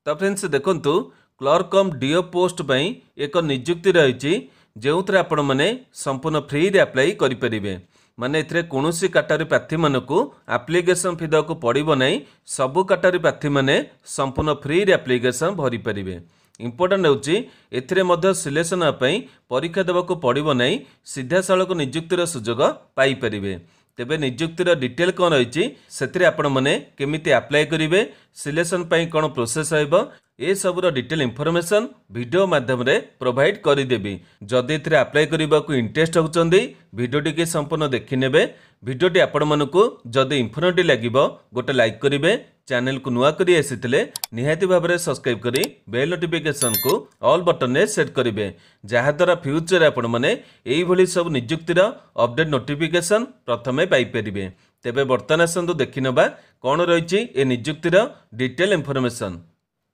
ତ ଫ୍ରେଣ୍ଡସ୍ ଦେଖନ୍ତୁ, କ୍ଲର୍କ କମ୍ deo post ପାଇଁ ଏକ ନିଯୁକ୍ତି ରହିଛି, ଯେଉଁଥିରେ ଆପଣମାନେ ସମ୍ପୂର୍ଣ୍ଣ ଫ୍ରିରେ ଆପ୍ଲାଏ କରିପାରିବେ। ମାନେ ଏଥିରେ କୌଣସି କାଟାଗୋରୀ ପ୍ରାର୍ଥୀମାନଙ୍କୁ ଆପ୍ଲିକେସନ୍ ଫି ଦେବାକୁ ପଡ଼ିବ ନାହିଁ। ସବୁ କାଟାଗୋରୀ ପ୍ରାର୍ଥୀମାନେ ସମ୍ପୂର୍ଣ୍ଣ ଫ୍ରିରେ ଆପ୍ଲିକେସନ୍ ଭରିପାରିବେ। ଇମ୍ପୋର୍ଟାଣ୍ଟ ହେଉଛି, ଏଥିରେ ମଧ୍ୟ ସିଲେକ୍ସନ୍ ହେବା ପାଇଁ ପରୀକ୍ଷା ଦେବାକୁ ପଡ଼ିବ ନାହିଁ, ସିଧାସଳଖ ନିଯୁକ୍ତିର ସୁଯୋଗ ପାଇପାରିବେ। ତେବେ ନିଯୁକ୍ତିର ଡିଟେଲ୍ କ'ଣ ରହିଛି, ସେଥିରେ ଆପଣମାନେ କେମିତି ଆପ୍ଲାଏ କରିବେ, ସିଲେକ୍ସନ୍ ପାଇଁ କ'ଣ ପ୍ରୋସେସ୍ ରହିବ, ଏସବୁର ଡିଟେଲ୍ ଇନଫର୍ମେସନ୍ ଭିଡ଼ିଓ ମାଧ୍ୟମରେ ପ୍ରୋଭାଇଡ଼ କରିଦେବି। ଯଦି ଏଥିରେ ଆପ୍ଲାଏ କରିବାକୁ ଇଣ୍ଟରେଷ୍ଟ ହେଉଛନ୍ତି, ଭିଡ଼ିଓଟିକି ସମ୍ପୂର୍ଣ୍ଣ ଦେଖିନେବେ। ଭିଡ଼ିଓଟି ଆପଣମାନଙ୍କୁ ଯଦି ଇନଫର୍ମେଟିଭ୍ ଲାଗିବ, ଗୋଟେ ଲାଇକ୍ କରିବେ। ଚ୍ୟାନେଲକୁ ନୂଆ କରି ଆସିଥିଲେ ନିହାତି ଭାବରେ ସବସ୍କ୍ରାଇବ୍ କରି ବେଲ୍ ନୋଟିଫିକେସନ୍କୁ ଅଲ୍ ବଟନରେ ସେଟ୍ କରିବେ, ଯାହାଦ୍ୱାରା ଫ୍ୟୁଚରରେ ଆପଣମାନେ ଏଇଭଳି ସବୁ ନିଯୁକ୍ତିର ଅପଡେଟ୍ ନୋଟିଫିକେସନ୍ ପ୍ରଥମେ ପାଇପାରିବେ। ତେବେ ବର୍ତ୍ତମାନ ଆସନ୍ତୁ ଦେଖିନେବା କ'ଣ ରହିଛି ଏ ନିଯୁକ୍ତିର ଡିଟେଲ୍ ଇନଫର୍ମେସନ୍।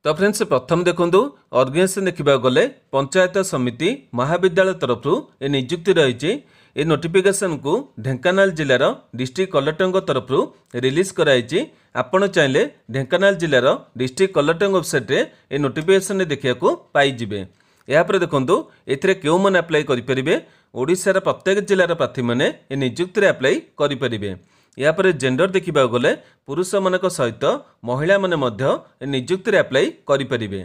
ତ ଫ୍ରେଣ୍ଡସ୍, ପ୍ରଥମ ଦେଖନ୍ତୁ, ଅର୍ଗାନାଇଜେସନ୍ ଦେଖିବାକୁ ଗଲେ ପଞ୍ଚାୟତ ସମିତି ମହାବିଦ୍ୟାଳୟ ତରଫରୁ ଏ ନିଯୁକ୍ତି ରହିଛି। ଏ ନୋଟିଫିକେସନ୍କୁ ଢେଙ୍କାନାଳ ଜିଲ୍ଲାର ଡିଷ୍ଟ୍ରିକ୍ଟ କଲେକ୍ଟରଙ୍କ ତରଫରୁ ରିଲିଜ୍ କରାଯାଇଛି। ଆପଣ ଚାହିଁଲେ ଢେଙ୍କାନାଳ ଜିଲ୍ଲାର ଡିଷ୍ଟ୍ରିକ୍ଟ କଲେକ୍ଟରଙ୍କ ୱେବସାଇଟ୍ରେ ଏ ନୋଟିଫିକେସନ୍ରେ ଦେଖିବାକୁ ପାଇଯିବେ। ଏହାପରେ ଦେଖନ୍ତୁ, ଏଥିରେ କେଉଁମାନେ ଆପ୍ଲାଏ କରିପାରିବେ? ଓଡ଼ିଶାର ପ୍ରତ୍ୟେକ ଜିଲ୍ଲାର ପ୍ରାର୍ଥୀମାନେ ଏ ନିଯୁକ୍ତିରେ ଆପ୍ଲାଏ କରିପାରିବେ। ଏହାପରେ ଜେଣ୍ଡର ଦେଖିବାକୁ ଗଲେ ପୁରୁଷମାନଙ୍କ ସହିତ ମହିଳାମାନେ ମଧ୍ୟ ଏ ନିଯୁକ୍ତିରେ ଆପ୍ଲାଏ କରିପାରିବେ।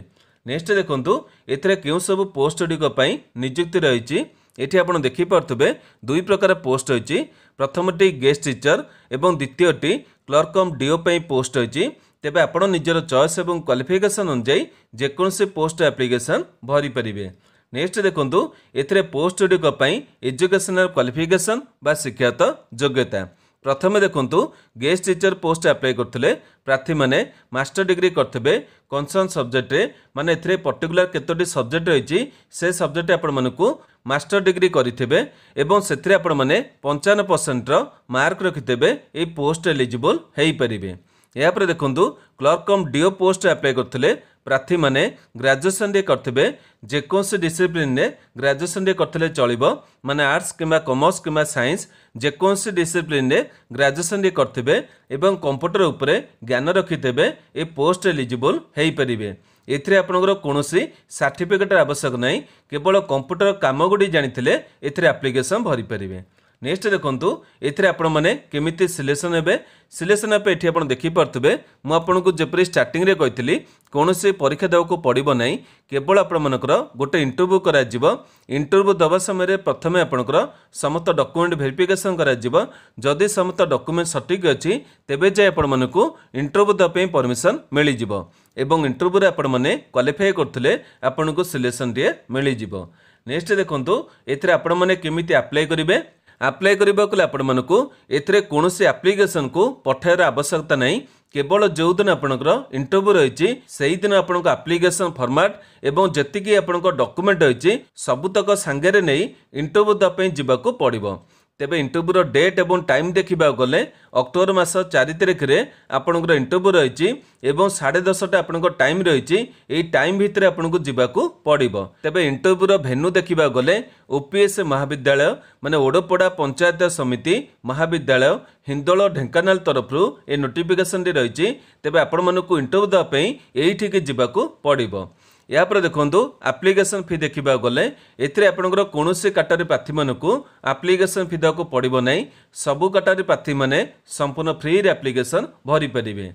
ନେକ୍ସଟ ଦେଖନ୍ତୁ, ଏଥିରେ କେଉଁ ସବୁ ପୋଷ୍ଟ ଗୁଡ଼ିକ ପାଇଁ ନିଯୁକ୍ତି ରହିଛି? ଏଠି ଆପଣ ଦେଖିପାରୁଥିବେ ଦୁଇ ପ୍ରକାର ପୋଷ୍ଟ ରହିଛି। ପ୍ରଥମଟି ଗେଷ୍ଟ ଟିଚର ଏବଂ ଦ୍ୱିତୀୟଟି କ୍ଲର୍କ କମ୍ ଡିଓ ପାଇଁ ପୋଷ୍ଟ ରହିଛି। ତେବେ ଆପଣ ନିଜର ଚଏସ୍ ଏବଂ କ୍ୱାଲିଫିକେସନ୍ ଅନୁଯାୟୀ ଯେକୌଣସି ପୋଷ୍ଟ ଆପ୍ଲିକେସନ୍ ଭରିପାରିବେ। ନେକ୍ସଟ ଦେଖନ୍ତୁ, ଏଥିରେ ପୋଷ୍ଟ ଗୁଡ଼ିକ ପାଇଁ ଏଜୁକେସନାଲ କ୍ୱାଲିଫିକେସନ୍ ବା ଶିକ୍ଷାଗତ ଯୋଗ୍ୟତା। ପ୍ରଥମେ ଦେଖନ୍ତୁ, ଗେଷ୍ଟ ଟିଚର ପୋଷ୍ଟ ଆପ୍ଲାଏ କରୁଥିଲେ ପ୍ରାର୍ଥୀମାନେ ମାଷ୍ଟର ଡିଗ୍ରୀ କରିଥିବେ କନସର୍ନ ସବଜେକ୍ଟରେ। ମାନେ ଏଥିରେ ପର୍ଟିକୁଲାର କେତୋଟି ସବଜେକ୍ଟ ରହିଛି, ସେ ସବଜେକ୍ଟ ଆପଣମାନଙ୍କୁ ମାଷ୍ଟର ଡିଗ୍ରୀ କରିଥିବେ ଏବଂ ସେଥିରେ ଆପଣମାନେ 55 ପରସେଣ୍ଟର ମାର୍କ ରଖିଥିବେ, ଏଇ ପୋଷ୍ଟ ଏଲିଜିବଲ୍ ହେଇପାରିବେ। ଏହାପରେ ଦେଖନ୍ତୁ, କ୍ଲର୍କ କମ୍ ଡିଓ ପୋଷ୍ଟ ଆପ୍ଲାଏ କରୁଥିଲେ ପ୍ରାର୍ଥୀମାନେ ଗ୍ରାଜୁଏସନ୍ରେ କରିଥିବେ। ଯେକୌଣସି ଡିସିପ୍ଲିନରେ ଗ୍ରାଜୁଏସନ୍ରେ କରିଥିଲେ ଚଳିବ। ମାନେ ଆର୍ଟ୍ସ କିମ୍ବା କମର୍ସ କିମ୍ବା ସାଇନ୍ସ, ଯେକୌଣସି ଡିସିପ୍ଲିନରେ ଗ୍ରାଜୁଏସନ୍ରେ କରିଥିବେ ଏବଂ କମ୍ପ୍ୟୁଟର ଉପରେ ଜ୍ଞାନ ରଖିଥିବେ, ଏ ପୋଷ୍ଟ ଏଲିଜିବଲ୍ ହେଇପାରିବେ। ଏଥିରେ ଆପଣଙ୍କର କୌଣସି ସାର୍ଟିଫିକେଟ୍ର ଆବଶ୍ୟକ ନାହିଁ, କେବଳ କମ୍ପ୍ୟୁଟର କାମ ଗୁଡ଼ିକ ଜାଣିଥିଲେ ଏଥିରେ ଆପ୍ଲିକେସନ୍ ଭରିପାରିବେ। ନେକ୍ସଟ ଦେଖନ୍ତୁ, ଏଥିରେ ଆପଣମାନେ କେମିତି ସିଲେକ୍ସନ୍ ହେବେ? ସିଲେକ୍ସନ୍ ହେବେ, ଏଠି ଆପଣ ଦେଖିପାରୁଥିବେ, ମୁଁ ଆପଣଙ୍କୁ ଯେପରି ଷ୍ଟାର୍ଟିଂରେ କହିଥିଲି, କୌଣସି ପରୀକ୍ଷା ଦେବାକୁ ପଡ଼ିବ ନାହିଁ। କେବଳ ଆପଣମାନଙ୍କର ଗୋଟେ ଇଣ୍ଟରଭ୍ୟୁ କରାଯିବ। ଇଣ୍ଟରଭ୍ୟୁ ଦେବା ସମୟରେ ପ୍ରଥମେ ଆପଣଙ୍କର ସମସ୍ତ ଡକୁମେଣ୍ଟ ଭେରିଫିକେସନ୍ କରାଯିବ। ଯଦି ସମସ୍ତ ଡକୁମେଣ୍ଟ ସଠିକ୍ ଅଛି, ତେବେ ଯାଇ ଆପଣମାନଙ୍କୁ ଇଣ୍ଟରଭ୍ୟୁ ଦେବା ପାଇଁ ପରମିସନ୍ ମିଳିଯିବ ଏବଂ ଇଣ୍ଟରଭ୍ୟୁରେ ଆପଣମାନେ କ୍ୱାଲିଫାଏ କରୁଥିଲେ ଆପଣଙ୍କୁ ସିଲେକ୍ସନ୍ଟିଏ ମିଳିଯିବ। ନେକ୍ସଟ ଦେଖନ୍ତୁ, ଏଥିରେ ଆପଣମାନେ କେମିତି ଆପ୍ଲାଏ କରିବେ? ଆପ୍ଲାଏ କରିବାକୁ ହେଲେ ଆପଣମାନଙ୍କୁ ଏଥିରେ କୌଣସି ଆପ୍ଲିକେସନକୁ ପଠାଇବାର ଆବଶ୍ୟକତା ନାହିଁ। କେବଳ ଯେଉଁଦିନ ଆପଣଙ୍କର ଇଣ୍ଟରଭ୍ୟୁ ରହିଛି, ସେଇଦିନ ଆପଣଙ୍କ ଆପ୍ଲିକେସନ ଫର୍ମାଟ୍ ଏବଂ ଯେତିକି ଆପଣଙ୍କ ଡକୁମେଣ୍ଟ ରହିଛି, ସବୁତକ ସାଙ୍ଗରେ ନେଇ ଇଣ୍ଟରଭ୍ୟୁ ଦେବା ପାଇଁ ଯିବାକୁ ପଡ଼ିବ। ତେବେ ଇଣ୍ଟରଭ୍ୟୁର ଡେଟ୍ ଏବଂ ଟାଇମ୍ ଦେଖିବାକୁ ଗଲେ ଅକ୍ଟୋବର ମାସ 4 ତାରିଖରେ ଆପଣଙ୍କର ଇଣ୍ଟରଭ୍ୟୁ ରହିଛି ଏବଂ 10:30ଟା ଆପଣଙ୍କ ଟାଇମ୍ ରହିଛି। ଏଇ ଟାଇମ୍ ଭିତରେ ଆପଣଙ୍କୁ ଯିବାକୁ ପଡ଼ିବ। ତେବେ ଇଣ୍ଟରଭ୍ୟୁର ଭେନ୍ୟୁ ଦେଖିବାକୁ ଗଲେ ଓପିଏସ୍ ମହାବିଦ୍ୟାଳୟ, ମାନେ ଓଡ଼ପଡ଼ା ପଞ୍ଚାୟତ ସମିତି ମହାବିଦ୍ୟାଳୟ, ହିନ୍ଦୋଳ, ଢେଙ୍କାନାଳ ତରଫରୁ ଏ ନୋଟିଫିକେସନଟି ରହିଛି। ତେବେ ଆପଣମାନଙ୍କୁ ଇଣ୍ଟରଭ୍ୟୁ ଦେବା ପାଇଁ ଏଇଠିକି ଯିବାକୁ ପଡ଼ିବ। ଏହାପରେ ଦେଖନ୍ତୁ, ଆପ୍ଲିକେସନ୍ ଫି ଦେଖିବାକୁ ଗଲେ ଏଥିରେ ଆପଣଙ୍କର କୌଣସି କାଟାଗୋରୀ ପ୍ରାର୍ଥୀମାନଙ୍କୁ ଆପ୍ଲିକେସନ୍ ଫି ଦେବାକୁ ପଡ଼ିବ ନାହିଁ। ସବୁ କାଟାଗୋରୀ ପ୍ରାର୍ଥୀମାନେ ସମ୍ପୂର୍ଣ୍ଣ ଫ୍ରିରେ ଆପ୍ଲିକେସନ୍ ଭରିପାରିବେ।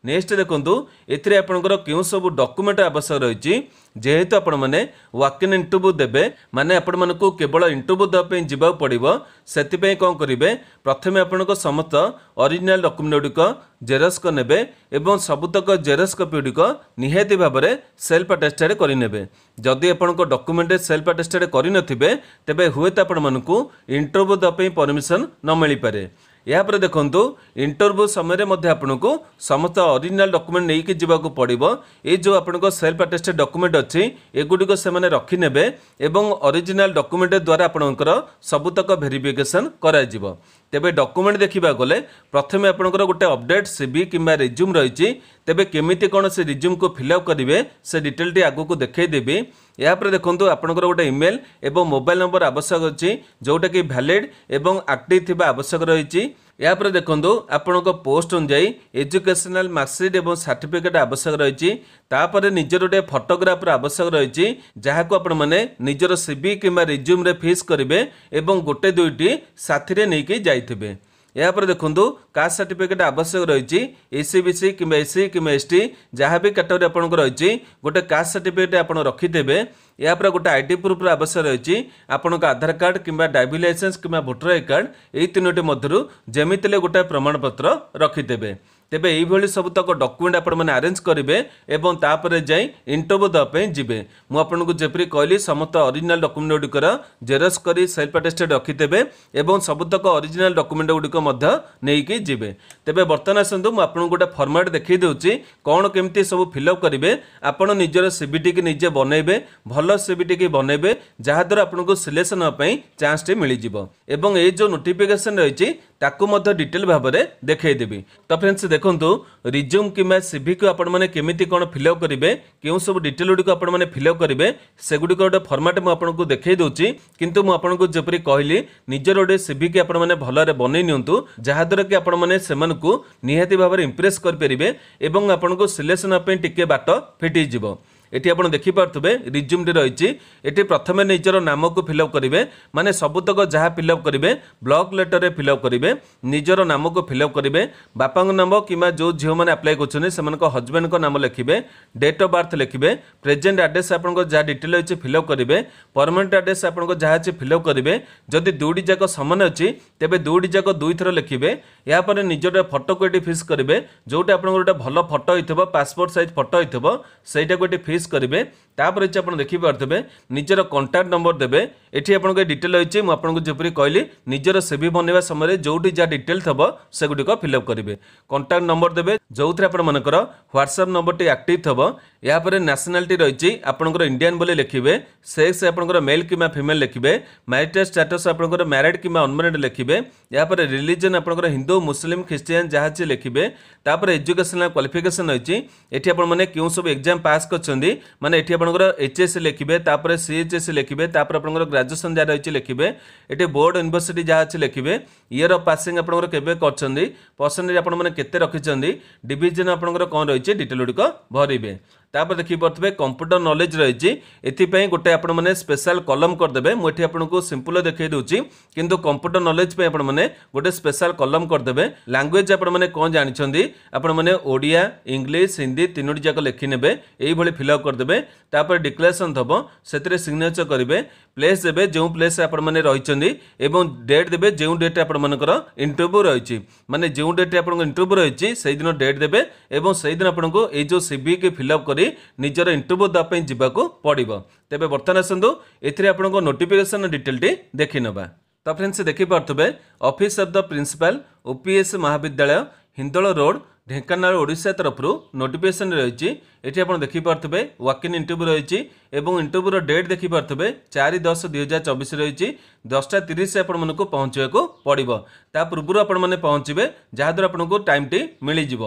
ନେକ୍ସଟ ଦେଖନ୍ତୁ, ଏଥିରେ ଆପଣଙ୍କର କେଉଁ ସବୁ ଡକୁମେଣ୍ଟ ଆବଶ୍ୟକ ରହିଛି? ଯେହେତୁ ଆପଣମାନେ ୱାକ୍ ଇନ୍ ଇଣ୍ଟରଭ୍ୟୁ ଦେବେ, ମାନେ ଆପଣମାନଙ୍କୁ କେବଳ ଇଣ୍ଟରଭ୍ୟୁ ଦେବା ପାଇଁ ଯିବାକୁ ପଡ଼ିବ, ସେଥିପାଇଁ କ'ଣ କରିବେ? ପ୍ରଥମେ ଆପଣଙ୍କ ସମସ୍ତ ଅରିଜିନାଲ ଡକୁମେଣ୍ଟ ଗୁଡ଼ିକ ଜେରକ୍ସ କରିନେବେ ଏବଂ ସବୁତକ ଜେରକ୍ସ କପି ଗୁଡ଼ିକ ନିହାତି ଭାବରେ ସେଲ୍ଫ ଆଟେଷ୍ଟେଡ଼ କରିନେବେ। ଯଦି ଆପଣଙ୍କ ଡକୁମେଣ୍ଟ ସେଲ୍ଫ ଆଟେଷ୍ଟେଡ଼ କରିନଥିବେ, ତେବେ ହୁଏତ ଆପଣମାନଙ୍କୁ ଇଣ୍ଟରଭ୍ୟୁ ଦେବା ପାଇଁ ପରମିସନ୍ ନ ମିଳିପାରେ। ଏହାପରେ ଦେଖନ୍ତୁ, ଇଣ୍ଟରଭ୍ୟୁ ସମୟରେ ମଧ୍ୟ ଆପଣଙ୍କୁ ସମସ୍ତ ଅରିଜିନାଲ ଡକୁମେଣ୍ଟ ନେଇକି ଯିବାକୁ ପଡ଼ିବ। ଏଇ ଯେଉଁ ଆପଣଙ୍କ ସେଲ୍ଫ ଆଟେଷ୍ଟେଡ଼ ଡକୁମେଣ୍ଟ ଅଛି, ଏଗୁଡ଼ିକ ସେମାନେ ରଖିନେବେ ଏବଂ ଅରିଜିନାଲ ଡକୁମେଣ୍ଟ ଦ୍ୱାରା ଆପଣଙ୍କର ସବୁତକ ଭେରିଫିକେସନ୍ କରାଯିବ। ତେବେ ଡକୁମେଣ୍ଟ ଦେଖିବାକୁ ଗଲେ ପ୍ରଥମେ ଆପଣଙ୍କର ଗୋଟେ ଅପଡେଟ୍ ସିଭି କିମ୍ବା ରିଜ୍ୟୁମ୍ ରହିଛି। ତେବେ କେମିତି କ'ଣ ସେ ରିଜ୍ୟୁମ୍କୁ ଫିଲ୍ଅପ୍ କରିବେ, ସେ ଡିଟେଲଟି ଆଗକୁ ଦେଖାଇଦେବି। ଏହାପରେ ଦେଖନ୍ତୁ, ଆପଣଙ୍କର ଗୋଟେ ଇମେଲ୍ ଏବଂ ମୋବାଇଲ ନମ୍ବର ଆବଶ୍ୟକ ଅଛି, ଯେଉଁଟାକି ଭ୍ୟାଲିଡ୍ ଏବଂ ଆକ୍ଟିଭ୍ ଥିବା ଆବଶ୍ୟକ ରହିଛି। ଏହାପରେ ଦେଖନ୍ତୁ, ଆପଣଙ୍କ ପୋଷ୍ଟ ଅନୁଯାୟୀ ଏଜୁକେସନାଲ ମାର୍କସିଟ୍ ଏବଂ ସାର୍ଟିଫିକେଟ୍ ଆବଶ୍ୟକ ରହିଛି। ତାପରେ ନିଜର ଗୋଟେ ଫଟୋଗ୍ରାଫର ଆବଶ୍ୟକ ରହିଛି, ଯାହାକୁ ଆପଣମାନେ ନିଜର ସିଭି କିମ୍ବା ରିଜ୍ୟୁମ୍ରେ ଫିକ୍ସ କରିବେ ଏବଂ ଗୋଟେ ଦୁଇଟି ସାଥିରେ ନେଇକି ଯାଇଥିବେ। ଏହାପରେ ଦେଖନ୍ତୁ, କାଷ୍ଟ ସାର୍ଟିଫିକେଟ୍ ଆବଶ୍ୟକ ରହିଛି। ଏସଇବିସି କିମ୍ବା ଏସସି କିମ୍ବା ଏସଟି, ଯାହା ବି କାଟେଗୋରୀ ଆପଣଙ୍କର ରହିଛି, ଗୋଟେ କାଷ୍ଟ ସାର୍ଟିଫିକେଟ୍ ଆପଣ ରଖିଦେବେ। ଏହାପରେ ଗୋଟେ ଆଇଡି ପ୍ରୁଫ୍ର ଆବଶ୍ୟକ ରହିଛି। ଆପଣଙ୍କ ଆଧାର କାର୍ଡ଼ କିମ୍ବା ଡ୍ରାଇଭିଂ ଲାଇସେନ୍ସ କିମ୍ବା ଭୋଟର I card, ଏଇ ତିନୋଟି ମଧ୍ୟରୁ ଯେମିତି ହେଲେ ଗୋଟେ ପ୍ରମାଣପତ୍ର ରଖିଦେବେ। ତେବେ ଏଇଭଳି ସବୁତକ ଡକୁମେଣ୍ଟ ଆପଣମାନେ ଆରେଞ୍ଜ କରିବେ ଏବଂ ତାପରେ ଯାଇ ଇଣ୍ଟରଭ୍ୟୁ ଦେବା ପାଇଁ ଯିବେ। ମୁଁ ଆପଣଙ୍କୁ ଯେପରି କହିଲି, ସମସ୍ତ ଅରିଜିନାଲ ଡକୁମେଣ୍ଟ ଗୁଡ଼ିକର ଜେରକ୍ସ କରି ସେଲ୍ଫ ଆଟେଷ୍ଟେଡ୍ ରଖିଦେବେ ଏବଂ ସବୁତକ ଅରିଜିନାଲ ଡକୁମେଣ୍ଟ ଗୁଡ଼ିକ ମଧ୍ୟ ନେଇକି ଯିବେ। ତେବେ ବର୍ତ୍ତମାନ ଆସନ୍ତୁ, ମୁଁ ଆପଣଙ୍କୁ ଗୋଟେ ଫର୍ମାଟ୍ ଦେଖାଇ ଦେଉଛି, କ'ଣ କେମିତି ସବୁ ଫିଲ୍ଅପ୍ କରିବେ। ଆପଣ ନିଜର ସିଭିଟିକି ନିଜେ ବନେଇବେ, ଭଲ ସିଭିଟିକି ବନେଇବେ, ଯାହାଦ୍ୱାରା ଆପଣଙ୍କୁ ସିଲେକ୍ସନ୍ ହେବା ପାଇଁ ଚାନ୍ସଟି ମିଳିଯିବ ଏବଂ ଏଇ ଯେଉଁ ନୋଟିଫିକେସନ୍ ରହିଛି ତାକୁ ମଧ୍ୟ ଡିଟେଲ୍ ଭାବରେ ଦେଖାଇଦେବି। ତ ଫ୍ରେଣ୍ଡସ୍ ଦେଖନ୍ତୁ, ରିଜ୍ୟୁମ୍ କିମ୍ବା ସିଭିକୁ ଆପଣମାନେ କେମିତି କ'ଣ ଫିଲ୍ଅପ୍ କରିବେ, କେଉଁ ସବୁ ଡିଟେଲ୍ ଗୁଡ଼ିକ ଆପଣମାନେ ଫିଲ୍ଅପ୍ କରିବେ, ସେଗୁଡ଼ିକ ଗୋଟେ ଫର୍ମାଟ୍ ମୁଁ ଆପଣଙ୍କୁ ଦେଖାଇ ଦେଉଛି। କିନ୍ତୁ ମୁଁ ଆପଣଙ୍କୁ ଯେପରି କହିଲି, ନିଜର ଗୋଟେ ସିଭିକି ଆପଣମାନେ ଭଲରେ ବନେଇ ନିଅନ୍ତୁ, ଯାହାଦ୍ୱାରା କି ଆପଣମାନେ ସେମାନଙ୍କୁ ନିହାତି ଭାବରେ ଇମ୍ପ୍ରେସ୍ କରିପାରିବେ ଏବଂ ଆପଣଙ୍କୁ ସିଲେକ୍ସନ୍ ହେବା ପାଇଁ ଟିକେ ବାଟ ଫିଟିଯିବ। ଏଠି ଆପଣ ଦେଖିପାରୁଥିବେ, ରିଜ୍ୟୁମ୍ଟି ରହିଛି। ଏଠି ପ୍ରଥମେ ନିଜର ନାମକୁ ଫିଲ୍ଅପ୍ କରିବେ, ମାନେ ସବୁତକ ଯାହା ଫିଲ୍ଅପ୍ କରିବେ ବ୍ଲକ୍ ଲେଟରରେ ଫିଲ୍ଅପ୍ କରିବେ। ନିଜର ନାମକୁ ଫିଲ୍ଅପ୍ କରିବେ, ବାପାଙ୍କ ନାମ କିମ୍ବା ଯେଉଁ ଝିଅମାନେ ଆପ୍ଲାଏ କରୁଛନ୍ତି ସେମାନଙ୍କ ହଜବେଣ୍ଡଙ୍କ ନାମ ଲେଖିବେ, ଡେଟ୍ ଅଫ୍ ବାର୍ଥ ଲେଖିବେ, ପ୍ରେଜେଣ୍ଟ ଆଡ୍ରେସ୍ ଆପଣଙ୍କ ଯାହା ଡିଟେଲ୍ ଅଛି ଫିଲ୍ଅପ୍ କରିବେ, ପରମାନେଣ୍ଟ ଆଡ୍ରେସ୍ ଆପଣଙ୍କ ଯାହା ଅଛି ଫିଲ୍ଅପ୍ କରିବେ। ଯଦି ଦୁଇଟି ଯାକ ସମାନ ଅଛି, ତେବେ ଦୁଇଟି ଯାକ ଦୁଇଥର ଲେଖିବେ। ଏହାପରେ ନିଜର ଫଟୋକୁ ଏଠି ଫିକ୍ସ କରିବେ। ଯେଉଁଠି ଆପଣଙ୍କର ଗୋଟେ ଭଲ ଫଟୋ ହେଇଥିବ, ପାସପୋର୍ଟ ସାଇଜ୍ ଫଟୋ ହେଇଥିବ, ସେଇଟାକୁ ଏଠି ଫିକ୍ସ କରିବେ। ତାପରେ ଅଛି ଆପଣ ଦେଖିପାରୁଥିବେ, ନିଜର କଣ୍ଟାକ୍ଟ ନମ୍ବର ଦେବେ। ଏଠି ଆପଣଙ୍କ ଡିଟେଲ୍ ରହିଛି। ମୁଁ ଆପଣଙ୍କୁ ଯେପରି କହିଲି, ନିଜର ସିଭି ବନେଇବା ସମୟରେ ଯେଉଁଠି ଯାହା ଡିଟେଲ୍ ଥିବ ସେଗୁଡ଼ିକ ଫିଲ୍ଅପ୍ କରିବେ। କଣ୍ଟାକ୍ଟ ନମ୍ବର ଦେବେ, ଯେଉଁଥିରେ ଆପଣମାନଙ୍କର ହ୍ୱାଟ୍ସଆପ୍ ନମ୍ବରଟି ଆକ୍ଟିଭ୍ ଥିବ। ଏହାପରେ ନ୍ୟାସନାଲିଟି ରହିଛି, ଆପଣଙ୍କର ଇଣ୍ଡିଆନ୍ ବୋଲି ଲେଖିବେ। ସେକ୍ସ ଆପଣଙ୍କର ମେଲ୍ କିମ୍ବା ଫିମେଲ୍ ଲେଖିବେ। ମ୍ୟାରିଟାଲ୍ ଷ୍ଟାଟସ୍ ଆପଣଙ୍କର ମ୍ୟାରିଡ୍ କିମ୍ବା ଅନମ୍ୟାରିଡ୍ ଲେଖିବେ। ଏହାପରେ ରିଲିଜନ୍ ଆପଣଙ୍କର ହିନ୍ଦୁ, ମୁସଲିମ, ଖ୍ରୀଷ୍ଟିଆନ ଯାହା ଅଛି ଲେଖିବେ। ତାପରେ ଏଜୁକେସନାଲ କ୍ୱାଲିଫିକେସନ୍ ରହିଛି। ଏଠି ଆପଣମାନେ କେଉଁ ସବୁ ଏକ୍ଜାମ୍ ପାସ୍ କରିଛନ୍ତି, ମାନେ ଏଠି ଆପଣଙ୍କର ଏଚ୍ ଏସ୍ ଲେଖିବେ, ତାପରେ ସିଏଚ୍ ଏସ୍ ଲେଖିବେ, ତାପରେ ଆପଣଙ୍କର ଗ୍ରାଜୁଏସନ୍ ଯାହା ରହିଛି ଲେଖିବେ। ଏଠି ବୋର୍ଡ଼ ୟୁନିଭର୍ସିଟି ଯାହା ଅଛି ଲେଖିବେ। ଇୟର୍ ଅଫ୍ ପାସିଂ ଆପଣଙ୍କର କେବେ କରିଛନ୍ତି, ପରସେଣ୍ଟେଜ୍ ଆପଣମାନେ କେତେ ରଖିଛନ୍ତି, ଡିଭିଜନ୍ ଆପଣଙ୍କର କ'ଣ ରହିଛି, ଡିଟେଲ୍ ଗୁଡ଼ିକ ଭରିବେ। ତାପରେ ଦେଖିପାରୁଥିବେ, କମ୍ପ୍ୟୁଟର ନଲେଜ ରହିଛି। ଏଥିପାଇଁ ଗୋଟେ ଆପଣମାନେ ସ୍ପେଶାଲ କଲମ କରିଦେବେ। ମୁଁ ଏଠି ଆପଣଙ୍କୁ ସିମ୍ପଲ ଦେଖାଇ ଦେଉଛି, କିନ୍ତୁ କମ୍ପ୍ୟୁଟର ନଲେଜ ପାଇଁ ଆପଣମାନେ ଗୋଟେ ସ୍ପେଶାଲ କଲମ କରିଦେବେ। ଲାଙ୍ଗୁଏଜ ଆପଣମାନେ କ'ଣ ଜାଣିଛନ୍ତି, ଆପଣମାନେ ଓଡ଼ିଆ, ଇଂଲିଶ, ହିନ୍ଦୀ ତିନୋଟି ଯାକ ଲେଖିନେବେ, ଏଇଭଳି ଫିଲ୍ଅପ୍ କରିଦେବେ। ତାପରେ ଡିକ୍ଲାରେସନ୍ ଥବ, ସେଥିରେ ସିଗ୍ନେଚର କରିବେ। ପ୍ଲେସ୍ ଦେବେ, ଯେଉଁ ପ୍ଲେସ୍ ଆପଣମାନେ ରହିଛନ୍ତି ଏବଂ ଡେଟ୍ ଦେବେ, ଯେଉଁ ଡେଟ୍ରେ ଆପଣମାନଙ୍କର ଇଣ୍ଟରଭ୍ୟୁ ରହିଛି। ମାନେ ଯେଉଁ ଡେଟ୍ରେ ଆପଣଙ୍କ ଇଣ୍ଟରଭ୍ୟୁ ରହିଛି ସେଇଦିନ ଡେଟ୍ ଦେବେ ଏବଂ ସେଇଦିନ ଆପଣଙ୍କୁ ଏଇ ଯେଉଁ ସିଭିକି ଫିଲ୍ଅପ୍ କରି ନିଜର ଇଣ୍ଟରଭ୍ୟୁ ଦେବା ପାଇଁ ଯିବାକୁ ପଡ଼ିବ। ତେବେ ବର୍ତ୍ତମାନ ଆସନ୍ତୁ, ଏଥିରେ ଆପଣଙ୍କ ନୋଟିଫିକେସନ୍ ଡିଟେଲଟି ଦେଖିନେବା। ତ ଫ୍ରେଣ୍ଡସ୍ ଦେଖିପାରୁଥିବେ, office of the principal, OPS Mahavidyalaya, Hindol road, Dhenkanal, Odisha ତରଫରୁ ନୋଟିଫିକେସନ୍ ରହିଛି। ଏଠି ଆପଣ ଦେଖିପାରୁଥିବେ, ୱାକ୍ ଇନ୍ ଇଣ୍ଟରଭ୍ୟୁ ରହିଛି ଏବଂ ଇଣ୍ଟରଭ୍ୟୁର ଡେଟ୍ ଦେଖିପାରୁଥିବେ, 4/10/2024 ରହିଛି। 10:30 ଆପଣମାନଙ୍କୁ ପହଞ୍ଚିବାକୁ ପଡ଼ିବ। ତା ପୂର୍ବରୁ ଆପଣମାନେ ପହଞ୍ଚିବେ, ଯାହାଦ୍ୱାରା ଆପଣଙ୍କୁ ଟାଇମ୍ଟି ମିଳିଯିବ।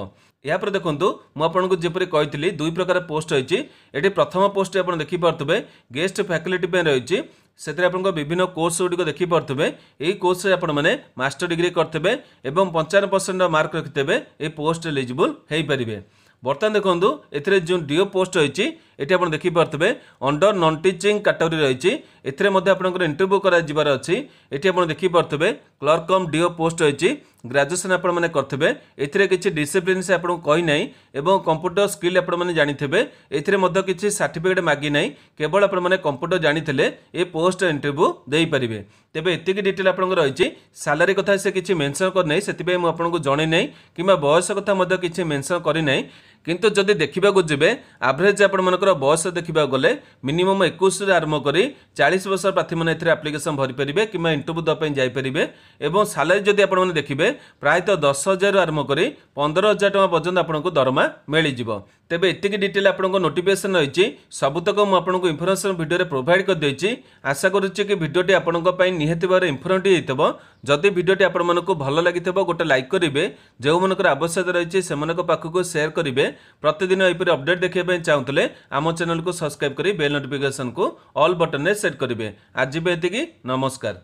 ଏହାପରେ ଦେଖନ୍ତୁ, ମୁଁ ଆପଣଙ୍କୁ ଯେପରି କହିଥିଲି, ଦୁଇ ପ୍ରକାର ପୋଷ୍ଟ ରହିଛି। ଏଠି ପ୍ରଥମ ପୋଷ୍ଟଟି ଆପଣ ଦେଖିପାରୁଥିବେ, ଗେଷ୍ଟ ଫ୍ୟାକଲ୍ଟି ପାଇଁ ରହିଛି। ସେଥିରେ ଆପଣଙ୍କ ବିଭିନ୍ନ କୋର୍ସ ଗୁଡ଼ିକ ଦେଖିପାରୁଥିବେ। ଏହି କୋର୍ସରେ ଆପଣମାନେ ମାଷ୍ଟର ଡିଗ୍ରୀ କରିଥିବେ ଏବଂ 55% ମାର୍କ ରଖିଥିବେ, ଏହି ପୋଷ୍ଟ ଏଲିଜିବୁଲ୍ ହୋଇପାରିବେ। ବର୍ତ୍ତମାନ ଦେଖନ୍ତୁ, ଏଥିରେ ଯେଉଁ ଡିଓ ପୋଷ୍ଟ ରହିଛି, ଏଠି ଆପଣ ଦେଖିପାରୁଥିବେ, ଅଣ୍ଡର ନନ୍ ଟିଚିଂ କାଟେଗୋରୀ ରହିଛି। ଏଥିରେ ମଧ୍ୟ ଆପଣଙ୍କର ଇଣ୍ଟରଭ୍ୟୁ କରାଯିବାର ଅଛି। ଏଠି ଆପଣ ଦେଖିପାରୁଥିବେ, କ୍ଲର୍କ କମ୍ ଡିଓ ପୋଷ୍ଟ ରହିଛି। ଗ୍ରାଜୁଏସନ୍ ଆପଣମାନେ କରିଥିବେ, ଏଥିରେ କିଛି ଡିସିପ୍ଲିନ୍ ସେ ଆପଣଙ୍କୁ କହିନାହିଁ ଏବଂ କମ୍ପ୍ୟୁଟର ସ୍କିଲ୍ ଆପଣମାନେ ଜାଣିଥିବେ। ଏଥିରେ ମଧ୍ୟ କିଛି ସାର୍ଟିଫିକେଟ୍ ମାଗିନାହିଁ, କେବଳ ଆପଣମାନେ କମ୍ପ୍ୟୁଟର ଜାଣିଥିଲେ ଏ ପୋଷ୍ଟ ଇଣ୍ଟରଭ୍ୟୁ ଦେଇପାରିବେ। ତେବେ ଏତିକି ଡିଟେଲ୍ ଆପଣଙ୍କର ରହିଛି। ସାଲାରୀ କଥା ସେ କିଛି ମେନସନ୍ କରିନାହିଁ, ସେଥିପାଇଁ ମୁଁ ଆପଣଙ୍କୁ ଜଣେଇ ନାହିଁ, କିମ୍ବା ବୟସ କଥା ମଧ୍ୟ କିଛି ମେନସନ୍ କରିନାହିଁ। କିନ୍ତୁ ଯଦି ଦେଖିବାକୁ ଯିବେ, ଆଭରେଜ୍ ଆପଣମାନଙ୍କର ବୟସ ଦେଖିବାକୁ ଗଲେ ମିନିମମ୍ 21ରୁ ଆରମ୍ଭ କରି 40 ବର୍ଷ ପ୍ରାର୍ଥୀମାନେ ଏଥିରେ ଆପ୍ଲିକେସନ୍ ଭରିପାରିବେ କିମ୍ବା ଇଣ୍ଟରଭ୍ୟୁ ଦେବା ପାଇଁ ଯାଇପାରିବେ। ଏବଂ ସାଲାରୀ ଯଦି ଆପଣମାନେ ଦେଖିବେ, ପ୍ରାୟତଃ 10,000ରୁ ଆରମ୍ଭ କରି 15,000 ଟଙ୍କା ପର୍ଯ୍ୟନ୍ତ ଆପଣଙ୍କୁ ଦରମା ମିଳିଯିବ। ତେବେ ଏତିକି ଡିଟେଲ୍ ଆପଣଙ୍କ ନୋଟିଫିକେସନ୍ ରହିଛି। ସବୁତକ ମୁଁ ଆପଣଙ୍କୁ ଇନଫର୍ମେସନ୍ ଭିଡ଼ିଓରେ ପ୍ରୋଭାଇଡ଼ କରିଦେଇଛି। ଆଶା କରୁଛି କି ଭିଡ଼ିଓଟି ଆପଣଙ୍କ ପାଇଁ ନିହାତି ଭାବରେ ଇନଫର୍ମେଟିଭ୍ ହେଇଥିବ। ଯଦି ଭିଡ଼ିଓଟି ଆପଣମାନଙ୍କୁ ଭଲ ଲାଗିଥିବ, ଗୋଟେ ଲାଇକ୍ କରିବେ। ଯେଉଁମାନଙ୍କର ଆବଶ୍ୟକତା ରହିଛି, ସେମାନଙ୍କ ପାଖକୁ ସେୟାର କରିବେ। ପ୍ରତିଦିନ ଏହିପରି ଅପଡେଟ୍ ଦେଖିବା ପାଇଁ ଚାହୁଁଥିଲେ ଆମ ଚ୍ୟାନେଲକୁ ସବସ୍କ୍ରାଇବ୍ କରି ବେଲ୍ ନୋଟିଫିକେସନକୁ ଅଲ୍ ବଟନରେ ସେଟ୍ କରିବେ। ଆଜି ପାଇଁ ଏତିକି, ନମସ୍କାର।